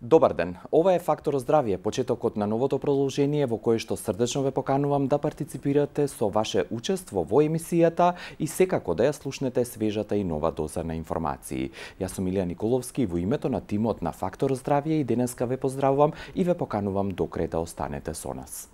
Добар ден. Ова е Фактор здравје, почетокот на новото продолжение во кое што срдечно ве поканувам да партиципирате со ваше учество во емисијата и секако да ја слушнете свежата и нова доза на информации. Јас сум Илија Николовски и во името на тимот на Фактор здравје и денеска ве поздравувам и ве поканувам до крај да останете со нас.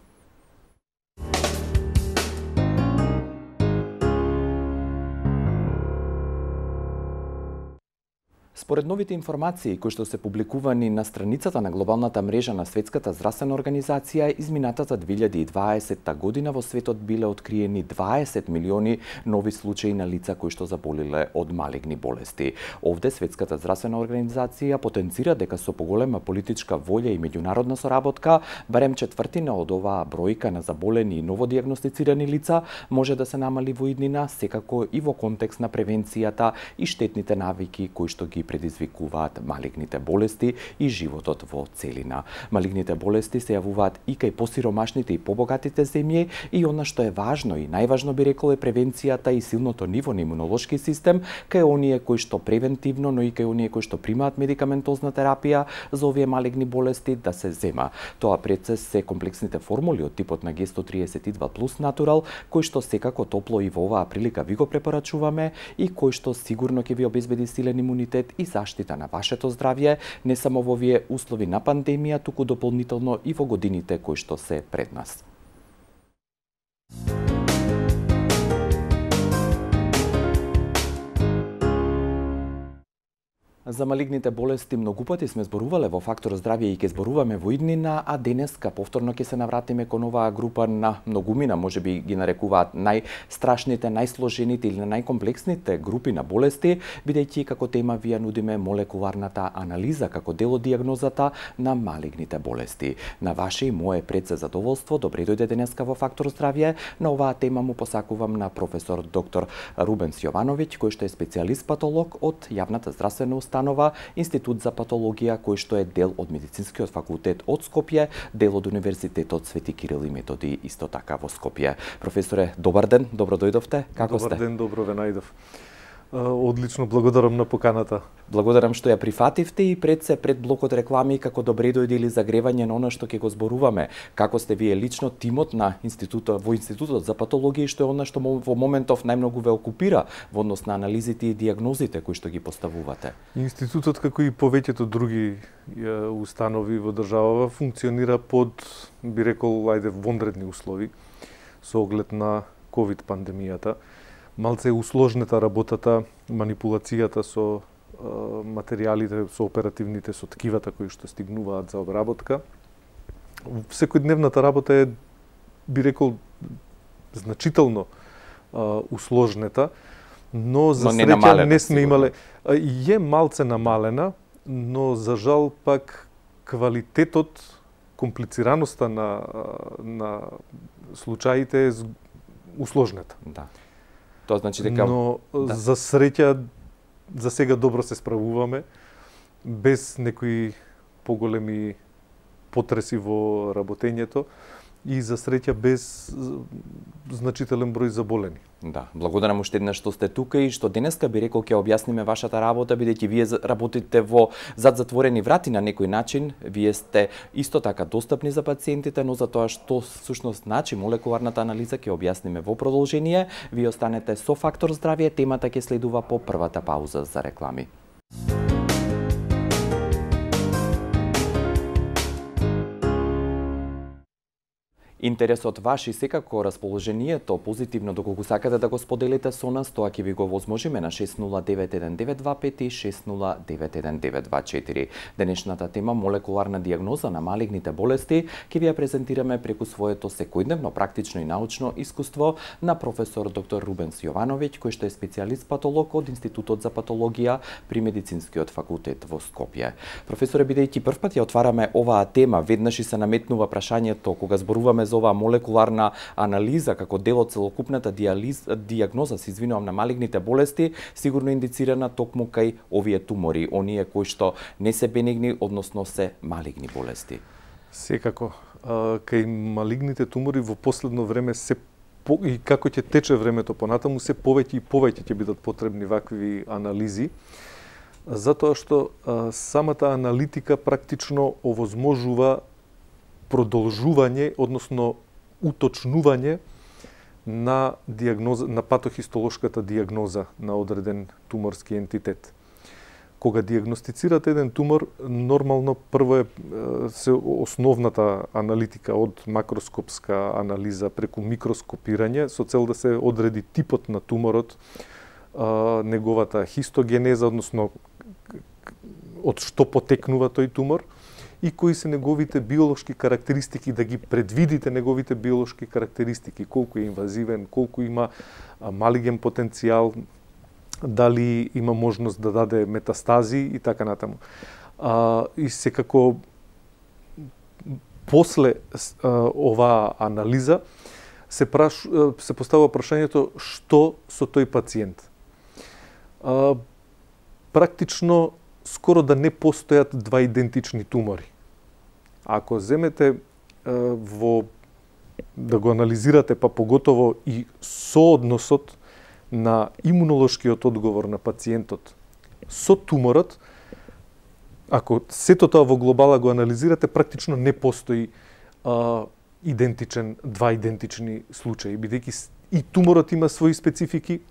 Според новите информации кои што се публикувани на страницата на глобалната мрежа на Светската здравствена организација, изминатата 2020 година во светот биле откриени 20 милиони нови случаи на лица кои што заболеле од малигни болести. Овде Светската здравствена организација потенцира дека со поголема политичка волја и меѓународна соработка, барем четвртина од оваа бројка на заболени и новодијагностицирани лица може да се намали во иднина, секако и во контекст на превенцијата и штетните навики кои што ги предизвикуваат малигните болести и животот во целина. Малигните болести се јавуваат и кај посиромашните и побогатите земји и она што е важно и најважно би рекол е превенцијата и силното ниво на имунолошки систем кај оние кои што превентивно, но и кај оние кои што примаат медикаментозна терапија за овие малигни болести да се зема. Тоа пред се комплексните формули од типот на G132 плюс Natural, кои што секако топло и во оваа прилика ви го препорачуваме и кои што сигурно ќе ви обезбеди силен имунитет и заштита на вашето здравје, не само во овие услови на пандемија, туку дополнително и во годините кои што се пред нас. За малигните болести многу пати сме зборувале во Фактор здравје и ќе зборуваме во иднина, а денеска повторно ќе се навратиме кон оваа група на многумина, можеби ги нарекуваат најстрашните, најсложените или најкомплексните групи на болести, бидејќи како тема ви ја нудиме молекуларната анализа како дел од дијагнозата на малигните болести. На ваше и мое предсе задоволство, добре дојде денеска во Фактор здравје. На оваа тема му посакувам на професор доктор Рубенс Јовановиќ, кој што е специјалист патолог од јавната здравствена установа Институт за патологија, кој што е дел од Медицинскиот факултет од Скопје, дел од Универзитетот Свети Кирил и Методи исто така во Скопје. Професоре, добар ден, добро дојдовте. Како сте? Добар ден, добро ве најдов. Одлично, благодарам на поканата. Благодарам што ја прифативте и пред блокот реклами како добре дојде или загревање на она што ќе го зборуваме. Како сте вие лично тимот на Институтот за патологија и што е она што во моментов најмногу ве окупира во однос на анализите и дијагнозите кои што ги поставувате? Институтот, како и повеќето други установи во државава, функционира под, би рекол, вонредни услови со оглед на ковид пандемијата. Малце е усложнета работата, манипулацијата со материјалите, со оперативните, со ткивата кои што стигнуваат за обработка. Секојдневната работа е, би рекол, значително усложнета, но за среќа не сме имале. Е малце намалена, но за жал пак квалитетот, комплицираноста на случаите е усложнета. Да. Тоа значи дека... Но за среќа, за сега добро се справуваме, без некои поголеми потреси во работењето и за среќа без значителен број заболени. Да, благодарам уште еднаш што сте тука и што денеска би рекол ќе објасниме вашата работа, бидејќи вие работите во зад затворени врати на некој начин. Вие сте исто така достапни за пациентите, но за тоа што всушност значи молекуларната анализа ќе објасниме во продолжение. Вие останете со Фактор здравје, темата ќе следува по првата пауза за реклами. Интересот ваш и секако расположението позитивно доколку сакате да го споделите со нас, тоа ќе ви го возможиме на 60919225 и 60919224. Денешната тема молекуларна дијагноза на малигните болести ќе ви ја презентираме преку своето секојдневно практично и научно искуство на професор доктор Рубенс Јовановиќ, кој што е специјалист патолог од Институтот за патологија при Медицинскиот факултет во Скопје. Професоре, бидејќи првпат ја отвараме оваа тема, веднаш и се наметнува прашањето кога зборуваме за оваа молекуларна анализа како дел од целокупната дијагноза, се извинувам, на малигните болести, сигурно индицирана токму кај овие тумори, оние кои што не се бенигни, односно се малигни болести. Секако, кај малигните тумори во последно време и како ќе тече времето понатаму, се повеќе и повеќе ќе бидат потребни вакви анализи. Затоа што самата аналитика практично овозможува продолжување, односно уточнување на диагноза, на патохистолошката диагноза на одреден туморски ентитет. Кога диагностицирате еден тумор, нормално прво се основната аналитика од макроскопска анализа преку микроскопирање со цел да се одреди типот на туморот, неговата хистогенеза, односно од што потекнува тој тумор и кои се неговите биолошки карактеристики, да ги предвидите неговите биолошки карактеристики, колку е инвазивен, колку има малиген потенцијал, дали има можност да даде метастази и така натаму. И секако после оваа анализа се поставува прашањето што со тој пациент. Практично скоро да не постојат два идентични тумори. Ако земете да го анализирате, па поготово и соодносот на имунолошкиот одговор на пациентот со туморот, ако сето тоа во глобала го анализирате, практично не постои два идентични случаи, бидејќи и туморот има своји специфики,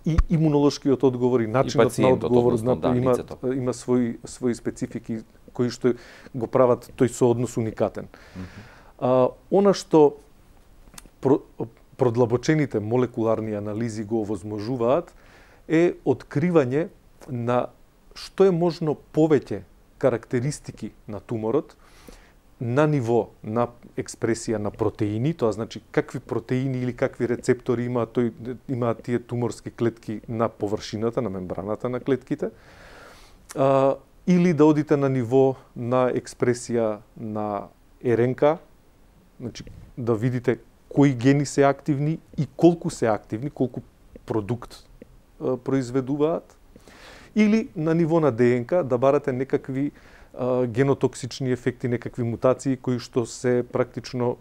и имунолошкиот одговор, и начинот на одговор има своји специфики кои што го прават тој сооднос уникатен. Она што продлабочените молекуларни анализи го овозможуваат е откривање на што е можно повеќе карактеристики на туморот на ниво на експресија на протеини, тоа значи какви протеини или какви рецептори имаат тие туморски клетки на површината, на мембраната на клетките, или да одите на ниво на експресија на РНК, значи да видите кои гени се активни и колку се активни, колку продукт произведуваат, или на ниво на ДНК да барате некакви генотоксични ефекти, некакви мутации кои што се практично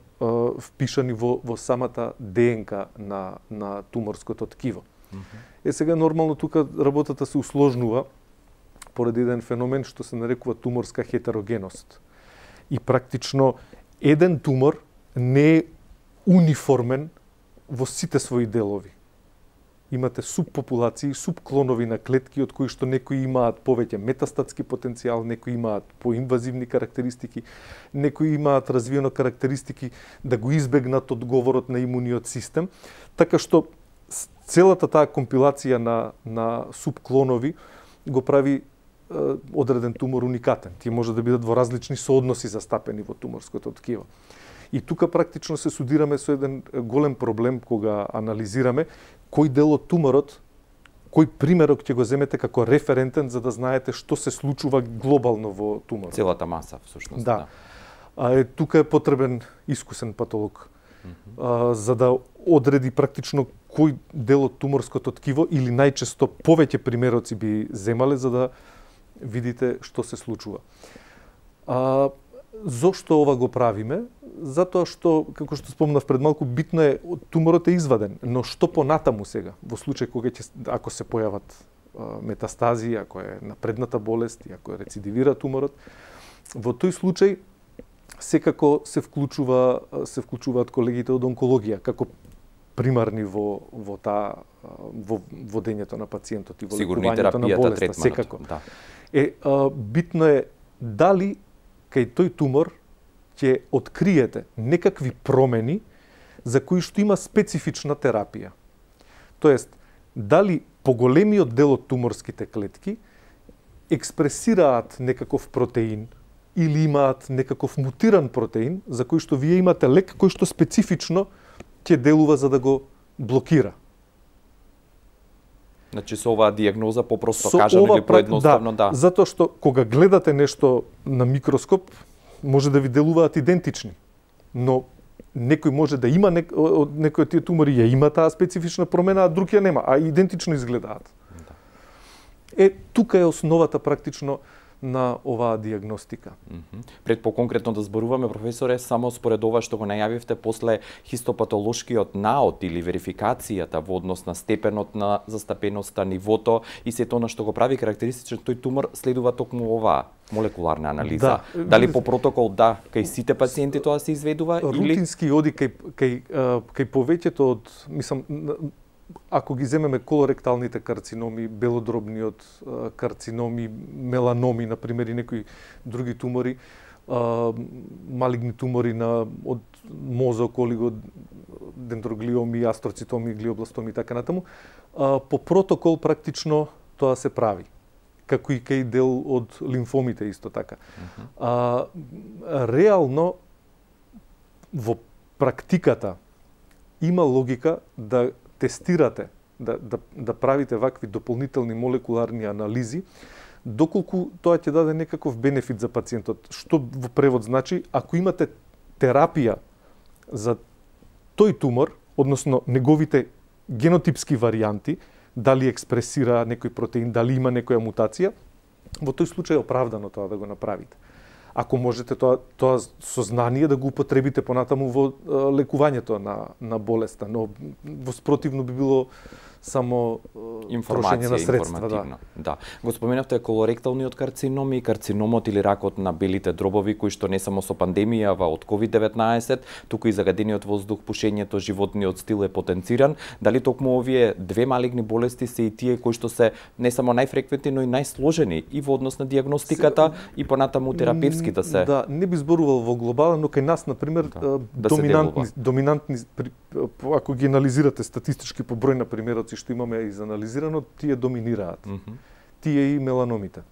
впишани во самата ДНК на туморското ткиво. Сега нормално тука работата се усложнува поради еден феномен што се нарекува туморска хетерогеност. И практично еден тумор не е униформен во сите своји делови. Имате субпопулации, субклонови на клетки од кои што некои имаат повеќе метастатски потенцијал, некои имаат поинвазивни карактеристики, некои имаат развиено карактеристики да го избегнат одговорот на имуниот систем, така што целата таа компилација на субклонови го прави одреден тумор уникатен. Тие може да бидат во различни соодноси застапени во туморското ткиво. И тука практично се судираме со еден голем проблем кога анализираме кој дел од туморот, кој примерок ќе го земете како референтен за да знаете што се случува глобално во туморот. Целата маса, всушност. Да. Тука е потребен искусен патолог за да одреди практично кој дел од туморското ткиво или најчесто повеќе примероци би земале за да видите што се случува. Зошто ова го правиме? Затоа што, како што спомнав пред малку, битно е, туморот е изваден, но што понатаму сега, во случај кога ако се појават метастази, ако е напредната болест, и ако рецидивира туморот, во тој случај секако се вклучуваат колегите од онкологија како примарни во водењето на пациентот и во лекувањето на болеста, секако. Да. Битно е дали кај тој тумор ќе откриете некакви промени за кои што има специфична терапија. Тоест, дали поголемиот дел од туморските клетки експресираат некаков протеин или имаат некаков мутиран протеин за кој што вие имате лек кој што специфично ќе делува за да го блокира. Значи со оваа диагноза попросто кажам или поедноставно, да. Затоа што кога гледате нешто на микроскоп, може да ви делуваат идентични, но некој може да има некој од тие тумори ја има таа специфична промена, а друг ја нема, а идентично изгледаат. Да. Тука е основата практично на оваа диагностика. Пред поконкретно да зборуваме, професоре, само според ова што го најавивте после хистопатолошкиот наод или верификацијата во однос на степенот на застапеноста, нивото и сето она што го прави карактеристичен тој тумор, следува токму оваа молекуларна анализа. Да. Дали по протокол кај сите пациенти тоа се изведува или рутински оди кај повеќето од, мислам, ако ги земеме колоректалните карциноми, белодробниот карциноми, меланоми, например, и некои други тумори, малигни тумори од мозок, олигодендроглиоми, астроцитоми, глиобластоми и така натаму, по протокол практично тоа се прави. Како и кај дел од лимфомите исто така. Реално, во практиката има логика да тестирате, да правите вакви дополнителни молекуларни анализи, доколку тоа ќе даде некаков бенефит за пациентот. Што во превод значи, ако имате терапија за тој тумор, односно неговите генотипски варијанти, дали експресира некој протеин, дали има некоја мутација, во тој случај е оправдано тоа да го направите. Ако можете тоа сознание да го употребите понатаму во лекувањето на болеста, но во спротивно би било само трошење на средства. Да. Го споменавте колоректалниот карцином и карциномот или ракот на белите дробови, кои што не само со пандемијава од COVID-19, туку и загадениот воздух, пушењето, животниот стил е потенциран. Дали токму овие две малигни болести се и тие кои што се не само најфреквентни, но и најсложени и во однос на диагностиката и понатаму терапевски да се... Да, не би зборувал во глобален, но кај нас, например, доминантни, ако ги анализирате статистички по број на примероци што имаме изанализирано, тие доминираат. Тие и меланомите.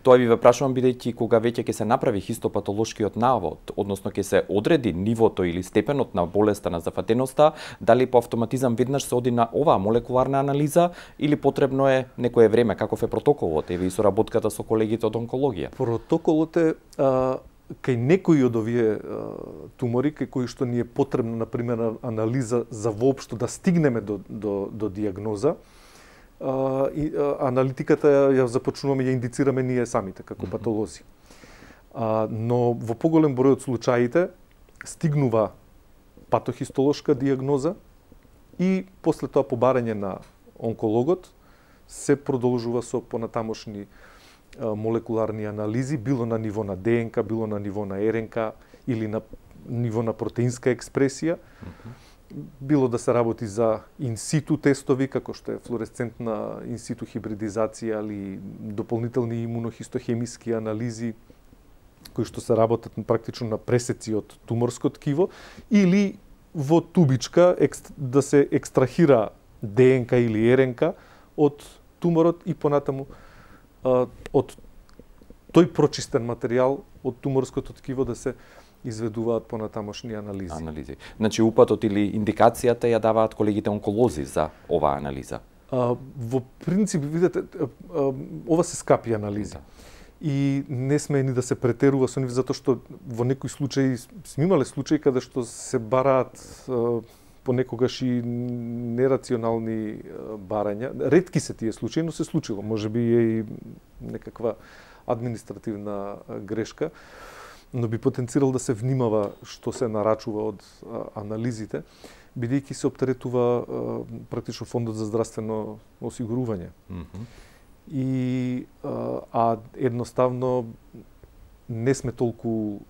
Тоа ви ве прашувам бидејќи кога веќе ќе се направи хистопатолошкиот навод, односно ќе се одреди нивото или степенот на болеста, на зафатеноста, дали по автоматизам веднаш се оди на оваа молекуларна анализа или потребно е некое време, каков е протоколот, еве и соработката со колегите од онкологија? Протоколот е кај некои од овие тумори, кај кои што ни е потребна, например, анализа за воопшто да стигнеме до диагноза, аналитиката ја започнуваме, ја индицираме ние самите, како патолози. Но во поголем број од случаите стигнува патохистолошка диагноза и после тоа побарање на онкологот се продолжува со понатамошни молекуларни анализи, било на ниво на ДНК, било на ниво на РНК или на ниво на протеинска експресија, било да се работи за инситу тестови, како што е флуоресцентна инситу хибридизација или дополнителни имунохистохемиски анализи, кои што се работат практично на пресеци од туморско ткиво, или во тубичка да се екстрахира ДНК или РНК од туморот и понатаму од тој прочистен материјал од туморското ткиво да се изведуваат понатамошни анализи. Значи упатот или индикацијата ја даваат колегите онколози за оваа анализа? Во принцип, видите, ова се скапи анализи. И не сме ни да се претерува со нив, затоа што во некои случаи, сме имале случаи каде што се бараат понекогаш и нерационални барања. Ретки се тие случаи, но се случило. Може би е и некаква административна грешка, но би потенцирал да се внимава што се нарачува од анализите, бидејќи се оптеретува практично фондот за здравствено осигурување. И едноставно не сме толку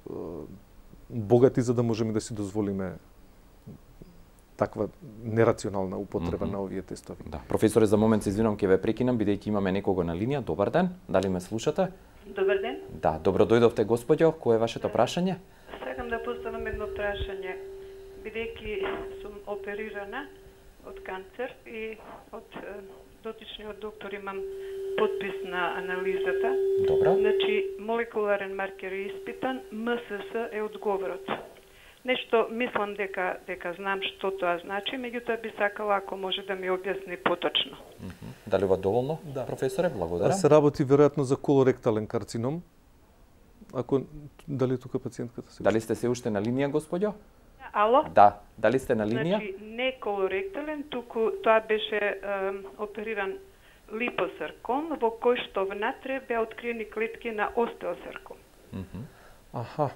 богати за да можеме да си дозволиме таква нерационална употреба на овие тестови. Да. Професоре, за момент се извинувам, ќе ве прекинам, бидејќи имаме некого на линија. Добар ден, дали ме слушате? Добар ден. Да, добро дојдовте, господјо. Кое е вашето прашање? Сакам да поставам едно прашање, бидејќи сум оперирана од канцер и од дотичниот доктор имам подпис на анализата. Добро. Значи, молекуларен маркер е испитан, МСС е одговорот. Нешто мислам дека знам што тоа значи, меѓутоа би сакала ако може да ми објасни поточно. Дали ова доволно, да. Професоре? Благодарам. Се работи веројатно за колоректален карцином. Дали тука пациентката се? Дали сте се уште на линија, господјо? Ало? Да. Дали сте на линија? Значи, не колоректален, туку тоа беше опериран липосарком, во кој што внатре беа откриени клетки на остеосарком. Аха.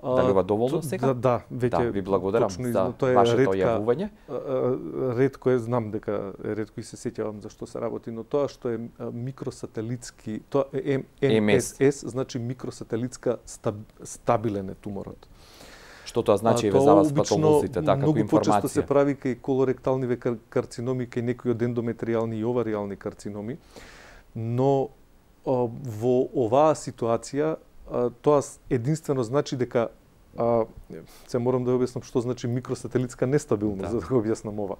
Дали ова доволно сега? Да, веќе ви благодарам за тоа е вашето ретка, јавување. Ретко е, знам дека ретко и се сеќавам за што се работи, но тоа што е микросателитски, тоа е МСС, значи микросателитска стабилен е туморот. Што тоа значи за вас патолозите, како многу информација? почесто се прави кај колоректални карциноми, кај некои од ендометриални и овариални карциноми, но во оваа ситуација тоа единствено значи дека се морам да објаснам што значи микросателитска нестабилност, за да го објаснам ова.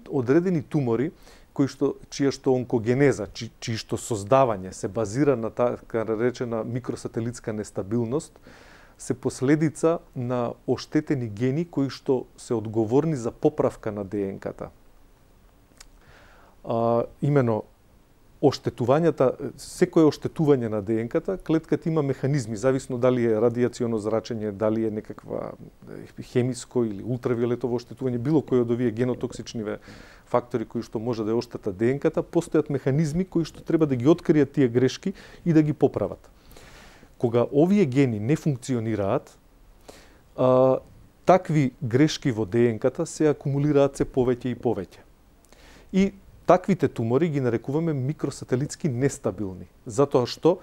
Одредени тумори чија што онкогенеза, чии што создавање се базира на така наречена микросателитска нестабилност, се последица на оштетени гени кои што се одговорни за поправка на ДНК-та. Имено оштетувањата, секое оштетување на ДНК-та, клетката има механизми, зависно дали е радијационо зрачење, дали е некаква хемиско или ултравиолетово оштетување, било кој од овие генотоксичниве фактори кои што може да ја оштета ДНК-та, постојат механизми кои што треба да ги откријат тие грешки и да ги поправат. Кога овие гени не функционираат, такви грешки во ДНК-та се акумулираат се повеќе и повеќе. И таквите тумори ги нарекуваме микросателитски нестабилни, затоа што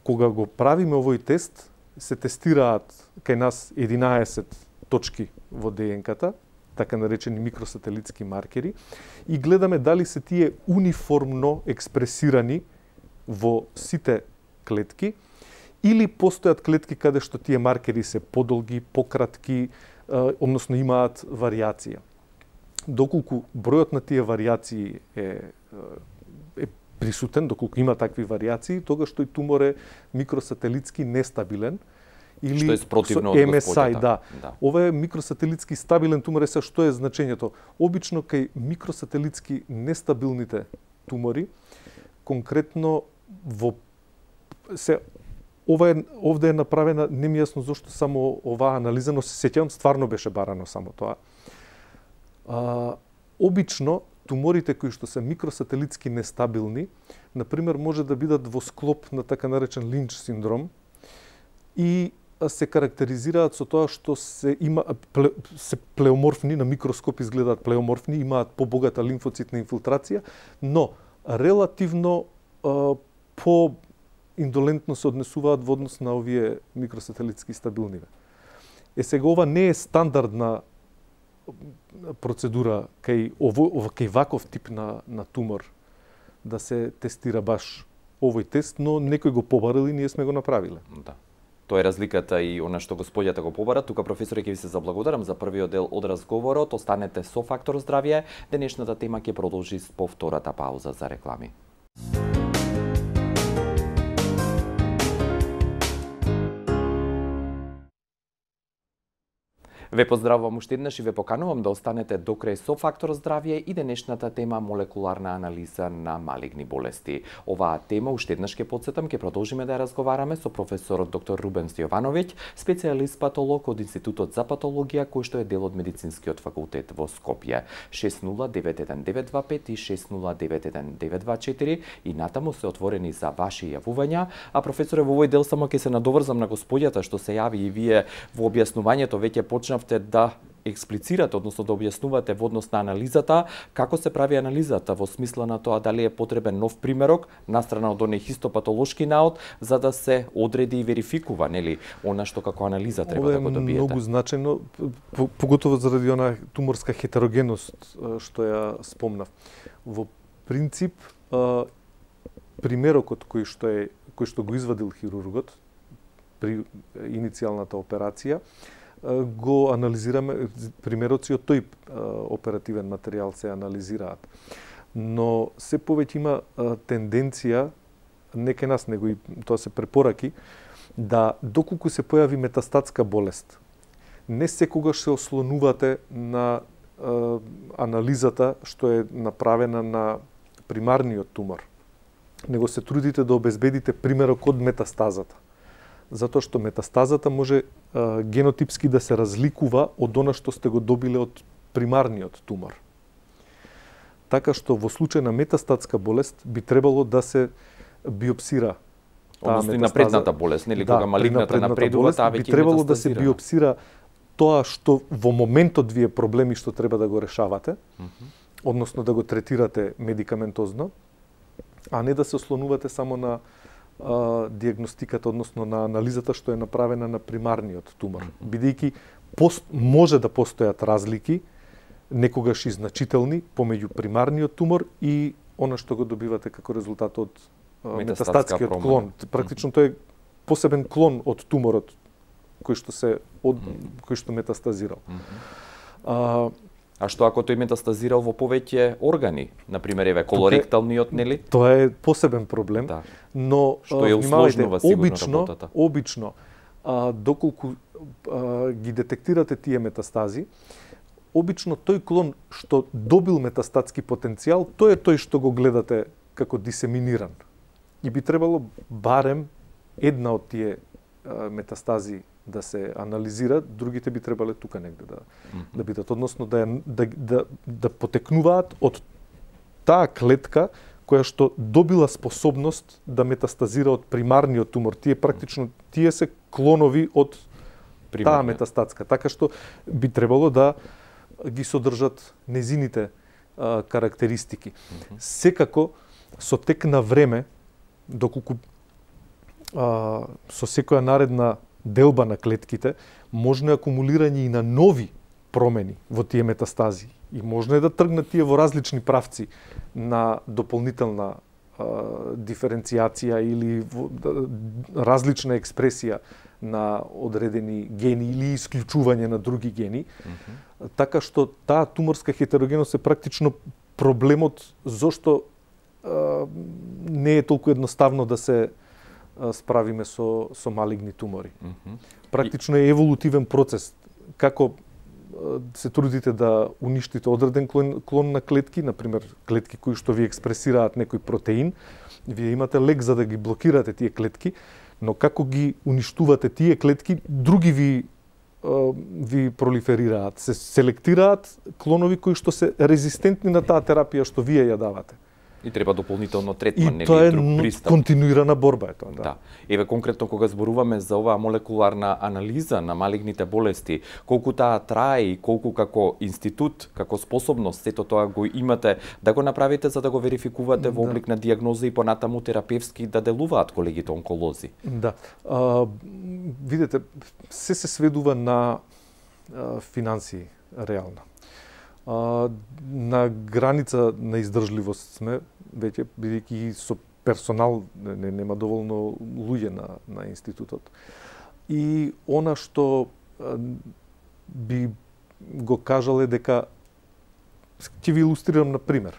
кога го правиме овој тест, се тестираат кај нас 11 точки во ДНК-та, така наречени микросателитски маркери, и гледаме дали се тие униформно експресирани во сите клетки, или постојат клетки каде што тие маркери се подолги, пократки, односно имаат варијација. Доколку бројот на тие варијации е присутен, доколку има такви варијации, тогаш тој тумор е микросателитски нестабилен или што е спротивно од MSI, да. Ова е микросателитски стабилен тумор, е што е значењето? Обично кај микросателитски нестабилните тумори, конкретно овде е направена, не ми јасно зошто само оваа анализа, но се сеќавам, стварно беше барано само тоа. Обично, туморите кои што се микросателитски нестабилни, например, може да бидат во склоп на така наречен Линч синдром и се карактеризираат со тоа што се плеоморфни, на микроскоп изгледаат плеоморфни, имаат побогата лимфоцитна инфилтрација, но релативно по-индолентно се однесуваат во однос на овие микросателитски стабилниве. Сега ова не е стандардна процедура кај ваков тип на тумор да се тестира баш овој тест, но некој го побарал и ние сме го направиле. Да. Тоа е разликата и она што господјата го побара. Тука, професоре, ќе ви се заблагодарам за првиот дел од разговорот. Останете со Фактор здравје. Денешната тема ќе продолжи по втората пауза за реклами. Ве поздравувам уште еднаш и ве поканувам да останете до крај со Фактор здравје и денешната тема молекуларна анализа на малигни болести. Оваа тема уште еднаш ќе потсетам, ќе продолжиме да ја разговараме со професор доктор Рубен Стојовановиќ, специјалист патолог од Институтот за патологија, кој што е дел од Медицинскиот факултет во Скопје. 6091-925 и 6091-924 и натаму се отворени за ваши јавувања, а професоре, во овој дел само ќе се надоврзам на господјата што се јави и вие во објаснувањето веќе почнавте да експлицирате, односно да објаснувате во однос на анализата, како се прави анализата во смисла на тоа дали е потребен нов примерок настрана од оној хистопатолошки наод за да се одреди и верификува, нели, она што како анализа треба да го добиете. Ова е многу значајно, поготово заради онаа туморска хетерогеност што ја спомнав. Во принцип, примерокот кој што го извадил хирургот при иницијалната операција, го анализираме, примероци од тој оперативен материјал се анализираат. Но се повеќе има тенденција, не кај нас, него и тоа се препораки, да доколку се појави метастатска болест, не секогаш се ослонувате на анализата што е направена на примарниот тумор, него се трудите да обезбедите примерок од метастазата. Затоа што метастазата може генотипски да се разликува од она што сте го добиле од примарниот тумор. така што во случај на метастатска болест би требало да се биопсира односно и напредната болест, нели, кога малигната напредува, таа веќе би требало да се биопсира тоа што во моментот вие проблеми што треба да го решавате, односно да го третирате медикаментозно, а не да се ослонувате само на диагностиката, односно на анализата што е направена на примарниот тумор. Бидејќи може да постојат разлики, некогаш и значителни, помеѓу примарниот тумор и она што го добивате како резултат од метастатскиот клон. Практично тој е посебен клон од туморот кој што метастазирал. А што ако тој метастазирал во повеќе органи, на пример еве колоректалниот, нели? Тоа е посебен проблем, но што ја усложнува сигурно работата. Обично доколку ги детектирате тие метастази, обично тој клон што добил метастатски потенцијал, тој е тој што го гледате како дисеминиран. И би требало барем една од тие метастази да се анализира, другите би требале тука негде да бидат, односно да потекнуваат од таа клетка која што добила способност да метастазира од примарниот тумор. Тие се клонови од таа метастатска, така што би требало да ги содржат незините карактеристики. Секако со тек на време, доколку со секоја наредна делба на клетките, можно акумулирање и на нови промени во тие метастази. И можно е да тргнат тие во различни правци на дополнителна диференцијација или различна експресија на одредени гени или исклучување на други гени. Така што таа туморска хетерогеност е практично проблемот зошто не е толку едноставно да се справиме со малигни тумори. Практично е еволутивен процес. Како се трудите да уништите одреден клон на клетки, например клетки кои што ви експресираат некој протеин, вие имате лек за да ги блокирате тие клетки, но како ги уништувате тие клетки, други ви пролиферираат, се селектираат клонови кои што се резистентни на таа терапија што вие ја давате. И треба дополнително третман, нели, друг пристап. Континуирана борба е тоа, да. Еве конкретно кога зборуваме за оваа молекуларна анализа на малигните болести, колку таа трае и колку како институт, како способност, сето тоа го имате да го направите за да го верификувате во облик на дијагноза и понатаму терапевски да делуваат колегите онколози. Да. Видете, се сведува на финансии реално. На граница на издржливост сме, веќе бидејќи со персонал нема доволно луѓе на институтот. И она што би го кажал е дека, ќе ви илустрирам на пример.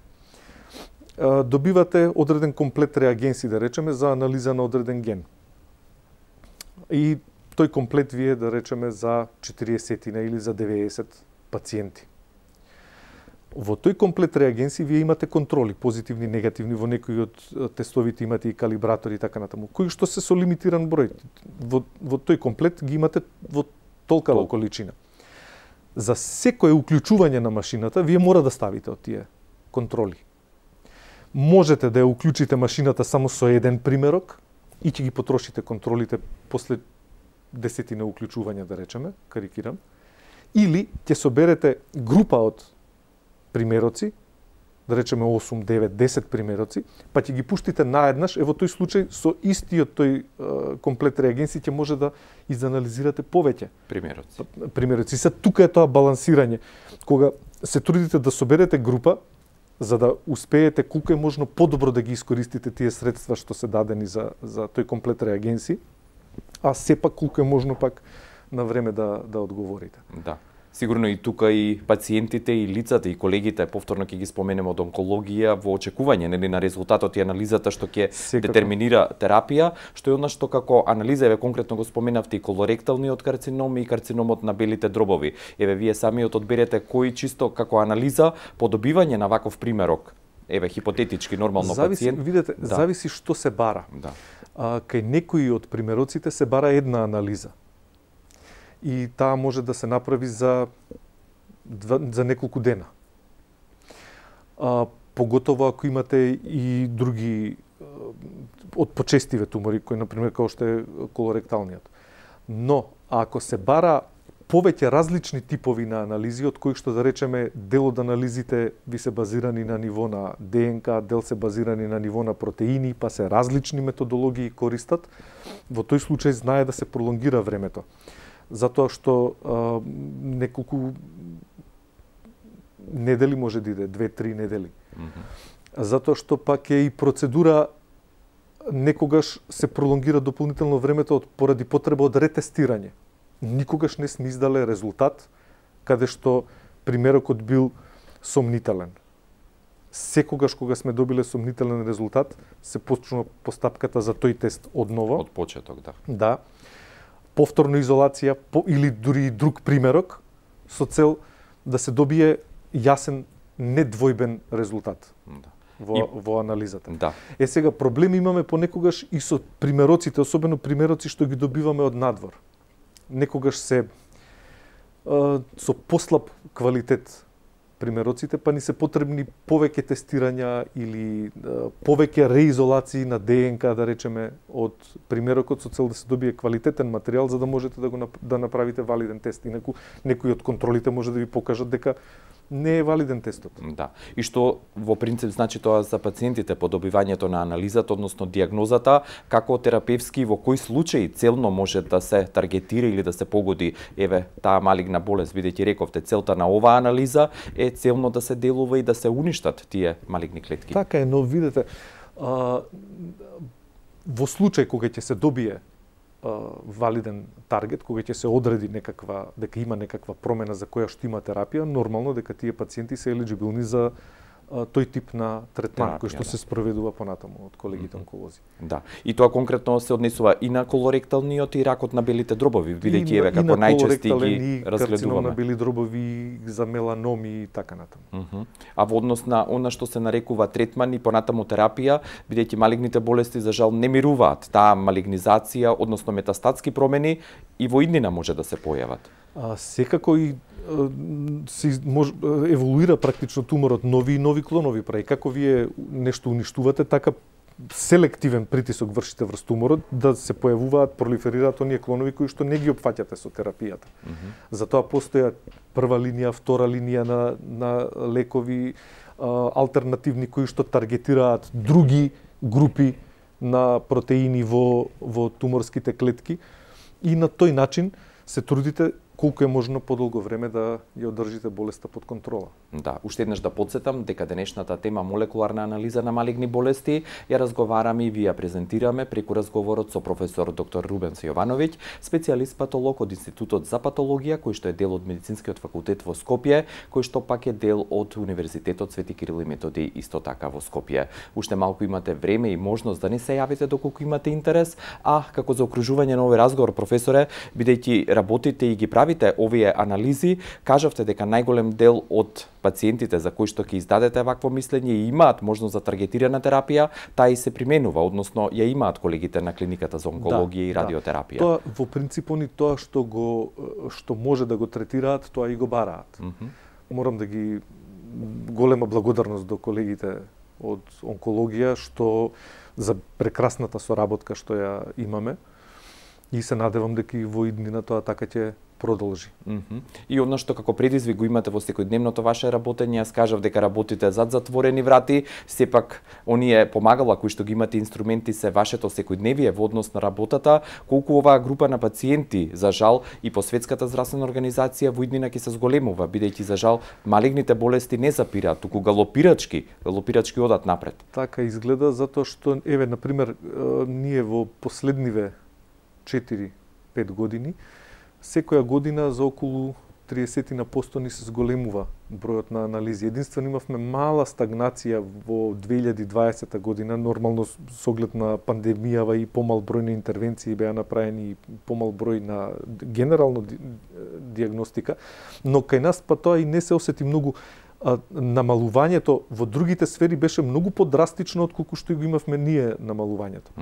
Добивате одреден комплет реагенси, да речеме, за анализа на одреден ген. И тој комплет ви е, да речеме, за 40 или за 90 пациенти. Во тој комплет реагенси вие имате контроли, позитивни, негативни, во некои од тестовите имате и калибратори и така натаму, кои што се со лимитиран број. Во тој комплет ги имате во толкава количина. За секое уклучување на машината, вие мора да ставите од тие контроли. Можете да ја уклучите машината само со еден примерок и ќе ги потрошите контролите после 10 уклучувања, да речеме, карикирам, или ќе соберете група од примероци, да речеме 8, 9, 10 примероци, па ќе ги пуштите наеднаш, во тој случај со истиот тој комплет реагенси ќе може да изанализирате повеќе примероци. Се тука е тоа балансирање, кога се трудите да соберете група за да успеете колку е можно подобро да ги искористите тие средства што се дадени за тој комплет реагенси, а сепак колку е можно пак на време да одговорите. Да. Сигурно и тука и пациентите и лицата и колегите, повторно ќе ги споменеме од онкологија, во очекување нели на резултатот и анализата што ќе детерминира терапија, што е она што како анализа, еве конкретно го споменавте и колоректалниот карцином и карциномот на белите дробови. Еве вие самиот одберете кој чисто како анализа по добивање на ваков примерок. Еве хипотетички нормално пациент. Видете, зависи што се бара. Да. Кај некои од примероците се бара една анализа. И таа може да се направи за неколку дена. поготово ако имате и други од почестиве тумори, кои например како што е колоректалниот. Но ако се бара повеќе различни типови на анализи, од кои што да речеме дел од анализите ви се базирани на ниво на ДНК, дел се базирани на ниво на протеини, па се различни методологии користат, во тој случај знае да се пролонгира времето. Затоа што неколку недели може да иде, 2-3 недели. Затоа што пак е и процедура некогаш се пролонгира дополнително времето поради потреба од ретестирање. Никогаш не сме издале резултат каде што примерокот бил сомнителен. Секогаш кога сме добиле сомнителен резултат, се почнува постапката за тој тест одново. Од почеток, да. Да. Повторна изолација или дури друг примерок со цел да се добие јасен, недвојбен резултат. Да. Во анализата. Да. Сега проблеми имаме понекогаш и со примероците, особено примероци што ги добиваме од надвор. Некогаш се со послаб квалитет примероците, па ни се потребни повеќе тестирања или повеќе реизолации на ДНК, да речеме, од примерокот со цел да се добие квалитетен материјал за да можете да направите валиден тест. Инаку некои од контролите може да ви покажат дека не е валиден тестот. Да. И што во принцип значи тоа за пациентите по добивањето на анализата, односно диагнозата, како терапевски во кои случаи целно може да се таргетира или да се погоди таа малигна болест, бидејќи рековте целта на оваа анализа е целно да се делува и да се уништат тие малигни клетки. Така е, но видете, во случај кога ќе се добие валиден таргет, кога ќе се одреди дека има некаква промена за која што има терапија, нормално дека тие пациенти се елиджибилни за тој тип на третман кој што се спроведува понатаму од колегите онколози. Да. И тоа конкретно се однесува и на колоректалниот и ракот на белите дробови, бидејќи како најчести ги разгледуваме. Карцином на бели дробови, за меланоми и така натаму. А во однос на она што се нарекува третман и понатаму терапија, бидејќи малигните болести за жал не мируваат, таа малигнизација, односно метастатски промени и во иднина може да се појават. Секако и еволуира практично туморот, нови и нови клонови прави. Како вие нешто уништувате, така селективен притисок вршите врз туморот да се појавуваат, пролиферираат оние клонови кои што не ги опфаќате со терапијата. Затоа постоја прва линија, втора линија на лекови алтернативни кои што таргетираат други групи на протеини во туморските клетки и на тој начин се трудите колку е можно подолго време да ја одржите болеста под контрола. Да, уште еднаш да потсетам дека денешната тема молекуларна анализа на малигни болести ја разговараме и ви ја презентираме преку разговорот со професор доктор Рубенс Јовановиќ, специјалист патолог од Институтот за патологија, кој што е дел од Медицинскиот факултет во Скопје, кој што пак е дел од Универзитетот Свети Кирил и Методи исто така во Скопје. Уште малку имате време и можност да не се јавите доколку имате интерес, а како заокружување на овој разговор, професоре, бидејќи работите и ги правите овие анализи, кажавте дека најголем дел од пациентите за кои што ќе издадете вакво мислење и имаат можност за таргетирана терапија, таа и се применува, односно ја имаат колегите на клиниката за онкологија и радиотерапија. Тоа во принцип они тоа што може да го третираат, тоа и го бараат. Морам да ги голема благодарност до колегите од онкологија што за прекрасната соработка што ја имаме и се надевам дека и во иднина тоа така ќе продолжи. И одно што како предизвик го имате во секојдневното ваше работење, јас кажав дека работите зад затворени врати, сепак оние помагала кои што ги имате инструменти се вашето секојдневие во однос на работата, колку оваа група на пациенти за жал и по Светската здравствена организација во иднина ќе се зголемува, бидејќи за жал малигните болести не запираат, туку галопирачки одат напред. Така изгледа затоа што на пример ние во последниве 4-5 години секоја година за околу 30% ни се зголемува бројот на анализи. Единствено имавме мала стагнација во 2020 година, нормално со оглед на пандемијава и помал број на интервенции беа направени и помал број на генерално диагностика, но кај нас па тоа и не се осети многу. Намалувањето во другите сфери беше многу подрастично од колку што го имавме ние намалувањето.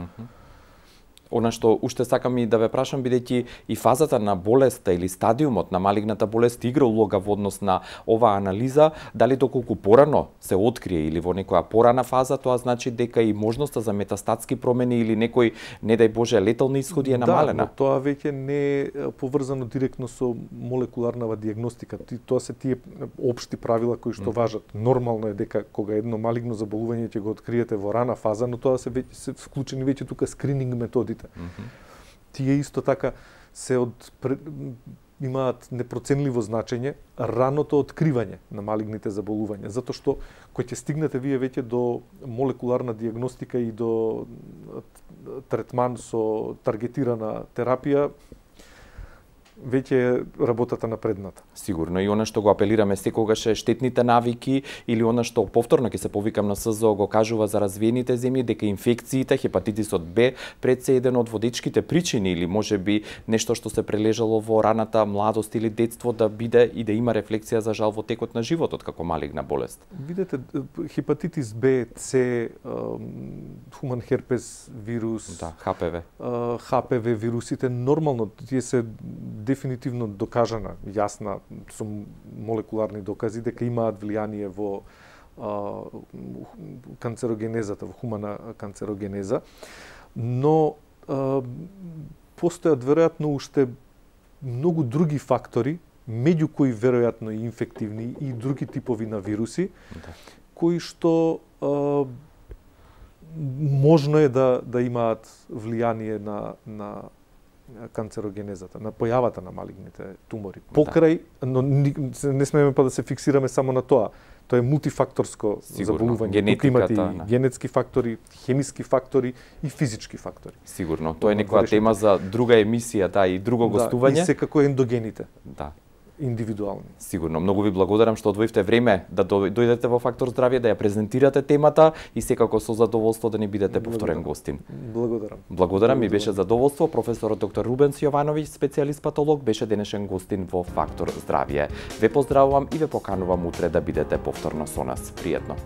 Она што уште сакам и да ве прашам, бидејќи и фазата на болеста или стадиумот на малигната болест игра улога во однос на оваа анализа, дали доколку порано се открие или во некоја порана фаза, тоа значи дека и можноста за метастатски промени или некој, не дај Боже, летални исходи е намалена. Да, но тоа веќе не е поврзано директно со молекуларната диагностика. Тоа се тие општи правила кои што важат. Нормално е дека кога едно малигно заболување ќе го откриете во рана фаза, но тоа се вклучени веќе тука скрининг методите. Тие исто така имаат непроценливо значење раното откривање на малигните заболувања, затоа што кој ќе стигнете вие веќе до молекуларна диагностика и до третман со таргетирана терапија, веќе работата напредната. Сигурно, и она што го апелираме секогаш е штетните навики или она што повторно ќе се повикам на СЗО го кажува за развиените земји дека инфекциите, хепатитисот Б пред се еден од водечките причини или можеби нешто што се прележало во раната младост или детство да биде и да има рефлексија за жал во текот на животот како малигна болест. Видете, хепатитис Б, С, хуман херпес вирус, да, ХПВ вирусите нормално тие се дефинитивно докажана, јасна со молекуларни докази дека имаат влијание во канцерогенезата, во хумана канцерогенеза, но постојат веројатно уште многу други фактори, меѓу кои веројатно и инфективни и други типови на вируси, кои што можно е да имаат влијание на канцерогенезата, на појавата на малигните тумори. Покрај, но не смееме да се фиксираме само на тоа. Тоа е мултифакторско заболување. Тука имате и генетски фактори, хемиски фактори и физички фактори. Сигурно, тоа е некоја тема за друга емисија, да, и друго гостување. И секако ендогените. Да. Индивидуални. Сигурно. Многу ви благодарам што одвоивте време да дојдете во Фактор здравје, да ја презентирате темата и секако со задоволство да ни бидете повторен гостин. Благодарам. Благодарам, ми беше задоволство. Професорот доктор Рубенс Јовановиќ, специјалист патолог, беше денешен гостин во Фактор здравје. Ве поздравувам и ве поканувам утре да бидете повторно со нас. Пријатно.